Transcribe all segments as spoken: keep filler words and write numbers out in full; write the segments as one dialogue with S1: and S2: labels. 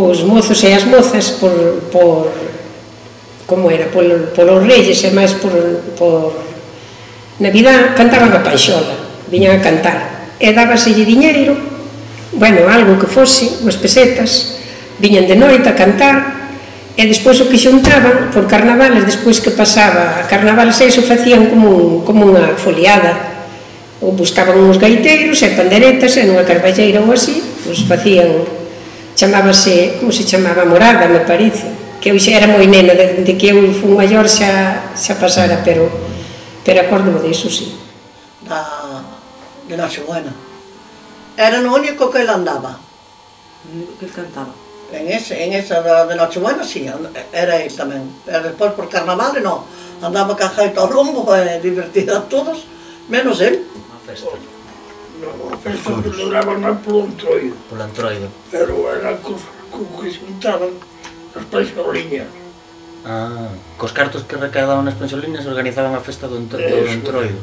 S1: os mozos e as mozas por, por como era, polo, polos reyes e máis por, por Navidad, cantaban a panxola, viñan a cantar, e dábaselle diñeiro, bueno, algo que fose, unhas pesetas, viñan de noite a cantar, e despois o que xuntaban, por carnavales, despois que pasaba a carnavales, eso facían como, un, como unha foliada, ou buscaban uns gaiteiros e panderetas, e nunha carballeira ou así, pois facían, chamábase, como se chamaba, morada, me parece, que eu xa era moi nena, de, de que eu fui maior xa, xa pasara, pero, pero acordo disso, sí.
S2: Da, de Nochebuena. Era o único que ele andaba.
S3: O único que ele cantaba.
S2: En, ese, en esa de Nochebuena, sí, era ele tamén. Pero despois por carnaval, non. Andaba ca jaita ao rumbo, e divertida a todos, menos ele.
S4: Unha festa.
S5: Non, a festa que celebraban polo Entroido.
S4: Polo Entroido.
S5: Pero era co que xuntaban as panxoliñas.
S4: Ah, cos cartos que recadaban as panxoliñas organizaban a festa do Entroido.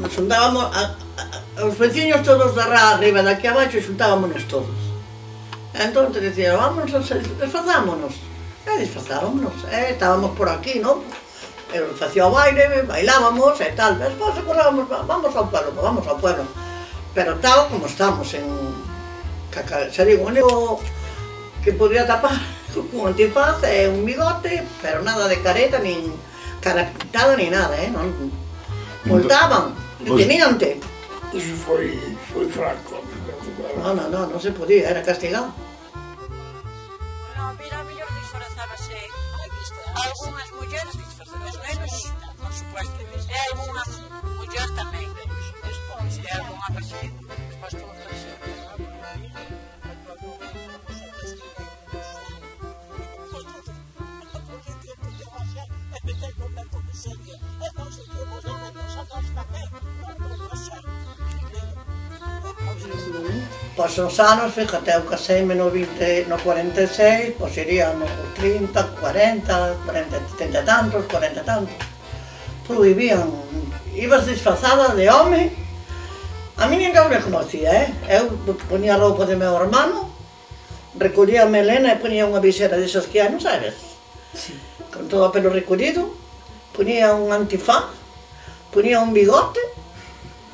S2: Xuntábamos, a, a, os veciños todos da rá arriba, daqui abaixo, xuntábamos todos. Entón te dicían, vámonos, disfrazámonos. E disfrazámonos, e estábamos por aquí, non? E facía o baile, bailábamos e tal. Despois acordábamos, vamos ao pueblo, vamos ao pueblo. Pero tal como estamos, en... xa digo, o único que podía tapar con antifaz e un bigote, pero nada de careta, nin cara pintada, ni nada, eh? Non, multaban, deteniante.
S5: Iso foi, foi Franco.
S2: Non, non, non, non se podía, era castigado.
S6: Non, mira, a mellor disfrazábase algunhas mulleres disfrazadas, os nenos, por supuesto, e algunha muller tamén, despois, e algunha persona, despois todo eso.
S2: Pois os anos, fíjate, eu caseime no vinte, no cuarenta e seis, pois iría nos trinta, cuarenta, cuarenta, trinta e tantos, cuarenta e tantos. Prohibían, ibas disfrazada de home, a mí ninguén me conocía, eh? Eu ponía a roupa de meu hermano, recollía a melena e ponía unha visera desas que hai, non sabes?
S3: Sí.
S2: Con todo o pelo recollido, ponía un antifaz, ponía un bigote,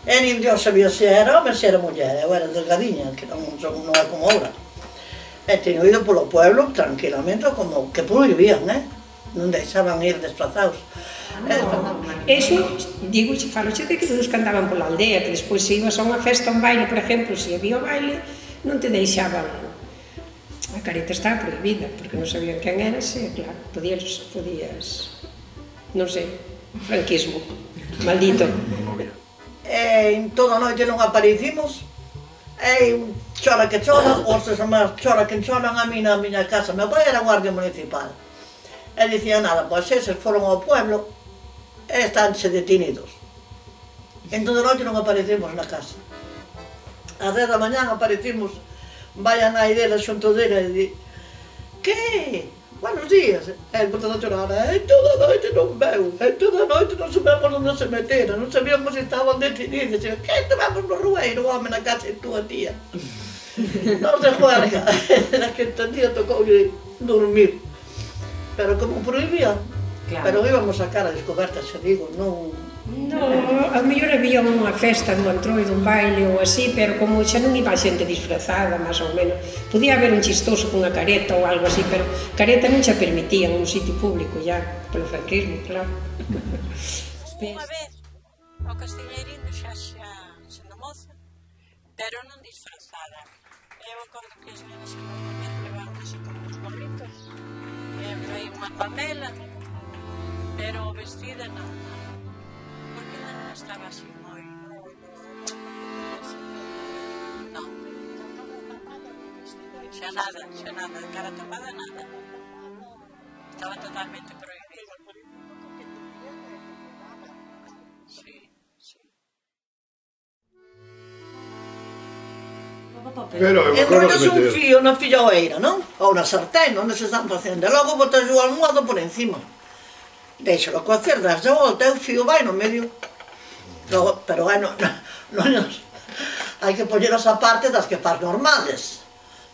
S2: e nin Dios sabía se era home, se era muller, eu era delgadiña, que non, non é como ahora. E teño ido polo pueblo tranquilamente, como que prohibían, eh? Non deixaban ir desplazados.
S1: Eso, digo, falo xe de que todos que andaban pola aldea, que despois se ibas a unha festa, un baile, por exemplo, se había o baile, non te deixaban. A careta estaba prohibida, porque non sabían quen eras, e claro, podías, podías, non sei, franquismo, maldito.
S2: E en toda a noite non aparecimos, e chora que chora, os demás chora que choran a mí na miña casa. Meu pai era guardia municipal, e dicía nada, pois eses foron ao pueblo e estánse detenidos. En toda a noite non aparecemos na casa. A dez da mañán aparecimos, vai a nai dela xunto dela e di, que? Buenos días. E el botando a chorar, e toda a noite non veu, e toda a noite non sabemos onde se metera, non sabíamos se estaban detenidos. E que estábamos no rueiro, o home na casa de tua tía. Non se juerga. Era que entendía, tocou dormir. Pero como prohibían, pero íbamos a cara descoberta, se digo, non...
S1: Non, a mellor había unha festa dun Entroido, un baile ou así, pero como xa non iba a xente disfrazada, máis ou menos, podía haber un chistoso cunha careta ou algo así, pero careta non xa permitían nun sitio público, ya, polo franquismo, claro.
S6: Unha vez, o Castiñeiriño xa xa sendo moza, pero non disfrazada. Eu acordo que as nenas que normalmente levaban así como uns gorritos, e foi unha pamela, pero vestida non. Porque non estaba así moi... Non. Xa nada, xa nada, de cara tapada nada. Estaba totalmente prohibido. Sí, sí.
S2: E enrollas un fío na filloeira, non? Ou na sartén, onde se están facendo. E logo botas o almohado por encima. Déixalo cocer, das de volta, e o fío vai no medio. Logo, pero vai, non, non, hai que poñelas a parte das que faz normales.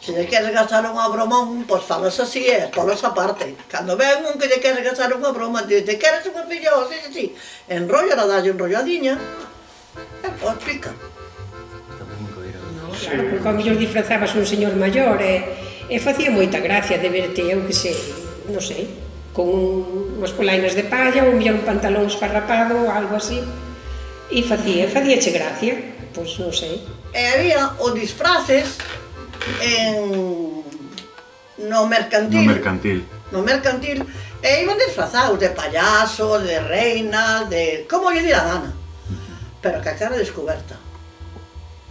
S2: Se lle queres gastar unha bromón, pois falas así e polas a parte. Cando ven un que lle queres gastar unha broma, dice, te queres unha fillo, así, así, enrolla, la dalle enrolladiña, e pois pica.
S1: Claro, porque ao mellor disfrazabas un señor maior e, e facía moita gracia de verte, eu que sei, non sei, con un, unhas polainas de palla ou mellor un pantalón esfarrapado ou algo así, e facía, facíache gracia, pois non sei.
S2: E había os disfraces en... no mercantil.
S7: No mercantil.
S2: No mercantil, e iban disfrazados de payaso, de reina, de... como lle dira a gana. Pero que a cara descoberta.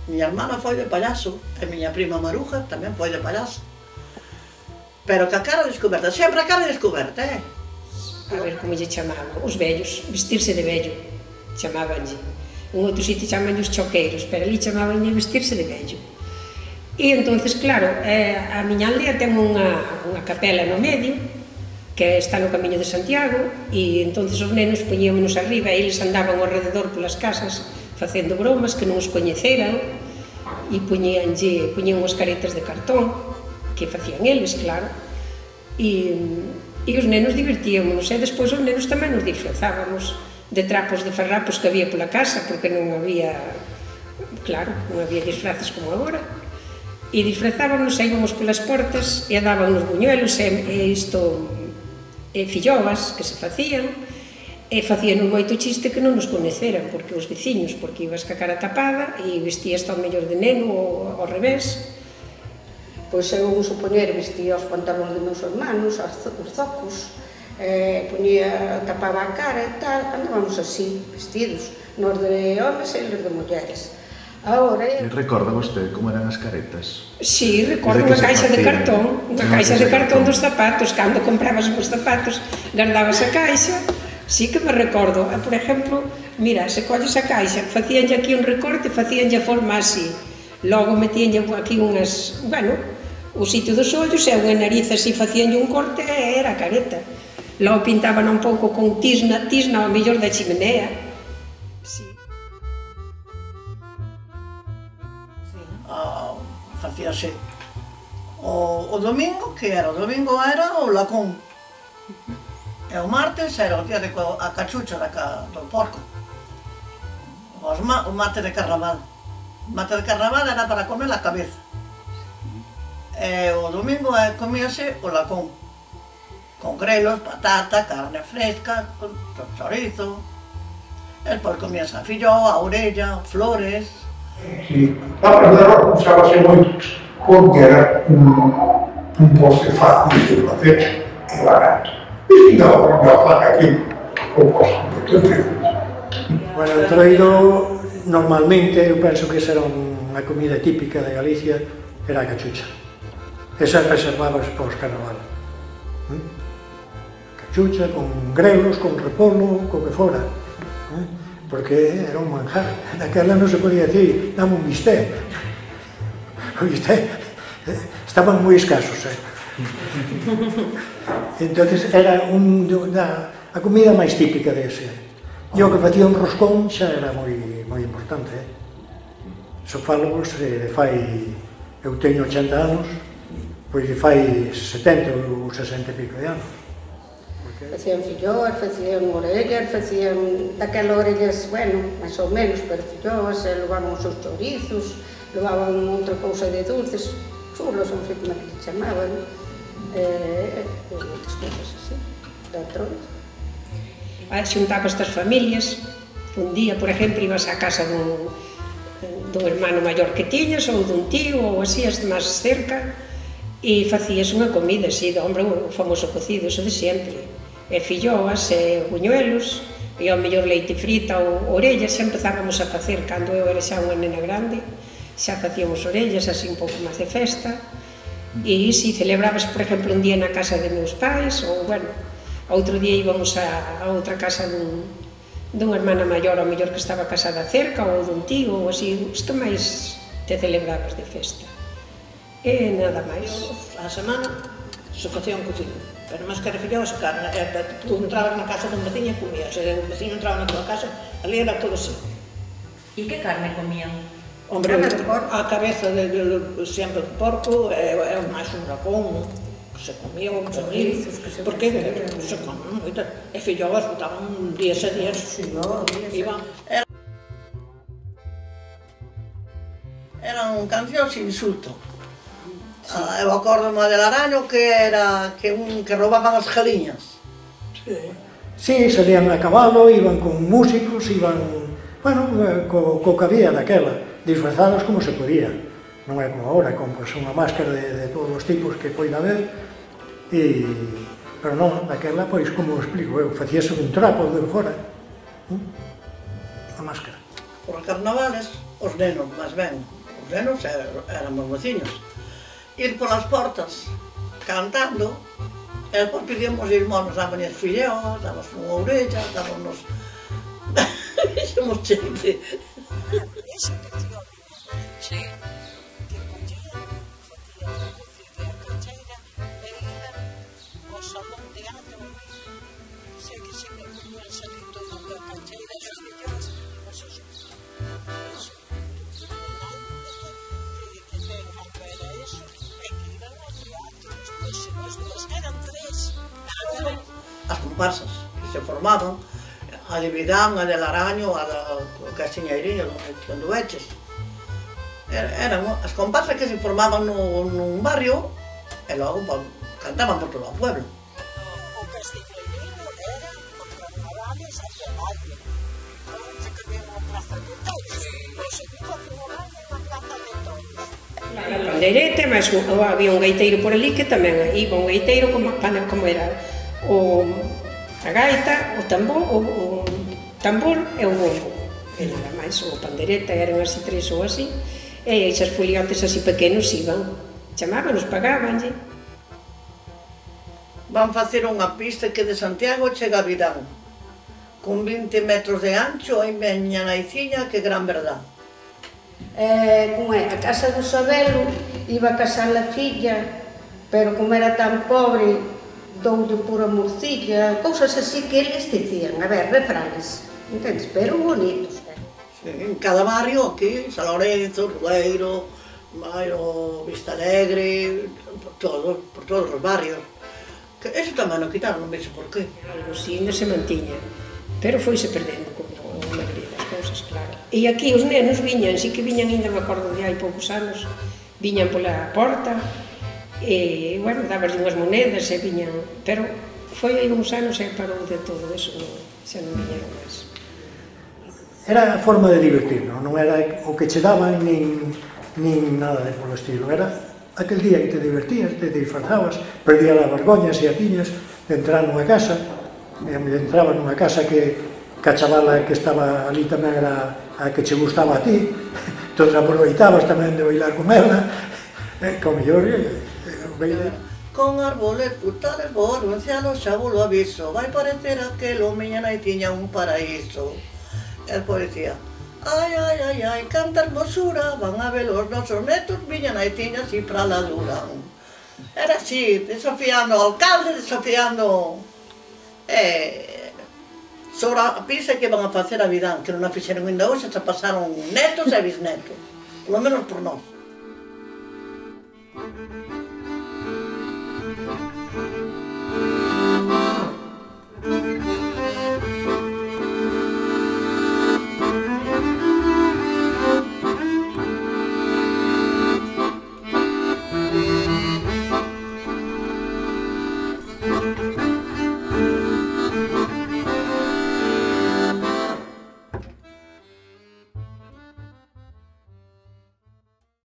S2: Miña hermana foi de payaso, e miña prima Maruja tamén foi de payaso. Pero que a cara descoberta, sempre a cara descoberta, eh?
S1: A ver como lle chamaban, os vellos, vestirse de vello, chamabanlle. En outro sitio chamanlle os choqueiros, pero ali chamabanlle vestirse de vello. E entonces, claro, eh, a miña aldea ten unha, unha capela no medio, que está no Camiño de Santiago, e entonces os nenos poñíamonos arriba e eles andaban ao rededor polas casas facendo bromas que non os coñeceran e poñíanlle, poñían unhas caretas de cartón que facían eles, claro, e, e os nenos divertíamos, e despois os nenos tamén nos disfrazábamos de trapos de farrapos que había pola casa, porque non había, claro, non había disfraces como agora, e disfrazábamos, íbamos polas portas e daban os buñuelos e, e isto, e filloas que se facían, e facíanos moito chiste que non nos coñeceran, porque os veciños, porque ibas ca cara tapada e vestías ao mellor de neno ou ao revés.
S8: Pois eu, supoñer, vestía os pantalóns de meus hermanos, os zocos, eh, ponía, tapaba a cara e tal, andábamos así, vestidos, nos de homes e nos de mulleres. Ahora...
S7: E recorda vostede como eran as caretas?
S1: Si, recordo unha caixa de cartón, unha caixa de cartón dos zapatos, cando comprabas os zapatos, guardabas a caixa, sí que me recordo. Por exemplo, mira, se colles a caixa, facíanlle aquí un recorte, facíanlle a forma así, logo metíanlle aquí unhas, bueno, o sitio dos ollos e unha nariz así, facíanlle un corte e era a careta. Logo pintaban un pouco con tisna, tisna ao mellor da chimenea. Sí.
S2: Ah, facíase o, o domingo, que era? O domingo era o lacón. E o martes era o día de a cachucha da, do porco. Os ma, o mate de carnaval. O mate de carnaval era para comer a cabeza. E o domingo comíase o lacón. Con grelos, patata, carne fresca, con chorizo. E despois comías a filló, a orella, flores.
S5: Sí, a verdade usábase moito porque era un, un postre fácil de facer e barato. E non, non fan aquí un postre moito diferente.
S9: Bueno, o entroido, normalmente, eu penso que esa era unha comida típica de Galicia, era a cachucha. Esa reservabas para os carnaval. ¿Mm? Cachucha con grelos, con repolo, co que fora. ¿Eh? Porque era un manjar. Naquela non se podía decir, dame un bistec. O bistec estaban moi escasos, eh? Entonces era un, da, a comida máis típica dese. E o que facía un roscón xa era moi, moi importante, eh? So falo, se fai, eu teño ochenta anos, pois fai setenta ou sesenta e pico de anos.
S8: Facían filloas, facían orellas, facían daquelas orellas, bueno, máis ou menos, pero filloas, levaban os seus chorizos, levaban outra cousa de dulces, chulos, non sei como é que se chamaban, e outras cousas así, dentro.
S1: Xuntaba estas familias, un día, por exemplo, ibas á casa dun, dun hermano maior que tiñas, ou dun tío, ou así, as máis cerca, e facías unha comida así, de hombre, o famoso cocido, eso de sempre. E filloas, e buñuelos, e ao mellor leite frita ou orellas, xa empezábamos a facer, cando eu era xa unha nena grande, xa facíamos orellas, así un pouco máis de festa, e si celebrabas, por exemplo, un día na casa de meus pais, ou, bueno, outro día íbamos a, a outra casa dun, dunha hermana maior, ao mellor que estaba casada cerca, ou dun tío, ou así, os que máis te celebrabas de festa. E nada máis.
S2: A semana se facía un cocido, pero máis que era filloas, carne, tú entrabas na casa dun veciño e comías, e o veciño entraba na tua casa, ali era todo así.
S3: E que carne comían?
S2: Hombre, a cabeza de, de, de sempre do porco é, é máis un racón, que se comía ou se comía, porque se comía moito. E fillovas botaban días e días. Iban. Eran cancións insulto. Ah, eu acordo mo del Araño que era que un que roubaban as galiñas.
S9: Sí, salían a cabalo, iban con músicos, iban, bueno, co, co que había daquela, disfrazados como se podía. Non é como agora, con pues, unha máscara de, de todos os tipos que poida haber, e, pero non, daquela, pois, como explico eu, facíase un trapo de fora, a máscara.
S2: Por carnavales, os nenos, máis ben, os nenos éramos veciños, ir polas portas cantando, e depois pedíamos irmãos, daban as filleos, daban unha orella, daban nos... Somos xente.
S6: Esa canción, sí, que collían, facían a cancheira, e iban ao salón de año, sei que se me ponían salir todo da cancheira, as fillas, os seus... Eso, que ten cando era eso, e que iban ao teatro, despois eran tres.
S2: As comparsas que se formaban, a de Vidán, a del Araño, a da Castiñeiriño, onde veches. Eran as comparsas que se formaban nun barrio e logo cantaban por todo o pueblo.
S6: O Castiñeiriño era os carnavales hacia o barrio. Non se querían a Plaza de Toros. O segundo carnaval na Plaza de Toros.
S1: A pandeireta, mas había un gaiteiro por ali que tamén iba un gaiteiro como, como era o, a gaita, o tambor, o, o tambor e o bombo. E nada máis, o pandeireta eran así tres ou así, e esas foliotes así pequenos iban, chamábanos, pagábanlle.
S2: Van facer unha pista que de Santiago chega a Vidán, con vinte metros de ancho, e meña naiciña que gran verdad.
S8: Eh, como é, a casa do Sabelo iba a casar a filla, pero como era tan pobre, doulle pura morcilla, cousas así que eles dicían, a ver, refranes, entendes, pero bonitos.
S2: Sí, en cada barrio, aquí, San Lorenzo, Rueiro, Mairo, Vista Alegre, por todos, por todos os barrios. Que eso tamén non quitaron, non vexo por qué.
S1: Algo así ainda se mantiña, pero foise perdendo como a maioría das cousas, claro. E aquí os nenos viñan, sí que viñan, ainda me acordo de hai poucos anos, viñan pola porta, e, bueno, daban unhas monedas e viñan, pero foi aí uns anos e parou de todo eso, non, xa non viñeron máis.
S9: Era a forma de divertirnos, non era o que che daban nin, nin nada de polo estilo, era aquel día que te divertías, te disfrazabas, perdías as vergoñas e a tiñas de entrar nunha casa, e entrabas nunha casa que, que a chavala que estaba ali tamén era a que che gustaba a ti, entón aproveitabas tamén de bailar con ela, e, con mellor, baile.
S2: Con árboles, frutales, bolo, en cielo xa vos lo aviso, vai parecer aquelo, miña nai tiña un paraíso. El policía, ai, ai, ai, ai, canta hermosura, van a ver os nosos netos, miña nai tiña así pra la dura. Era así, desafiando ao alcalde, desafiando... Eh, sobre a pisa que van a facer a Vidán, que non a fixeron ainda hoxe, xa pasaron netos e bisnetos, polo menos por nós.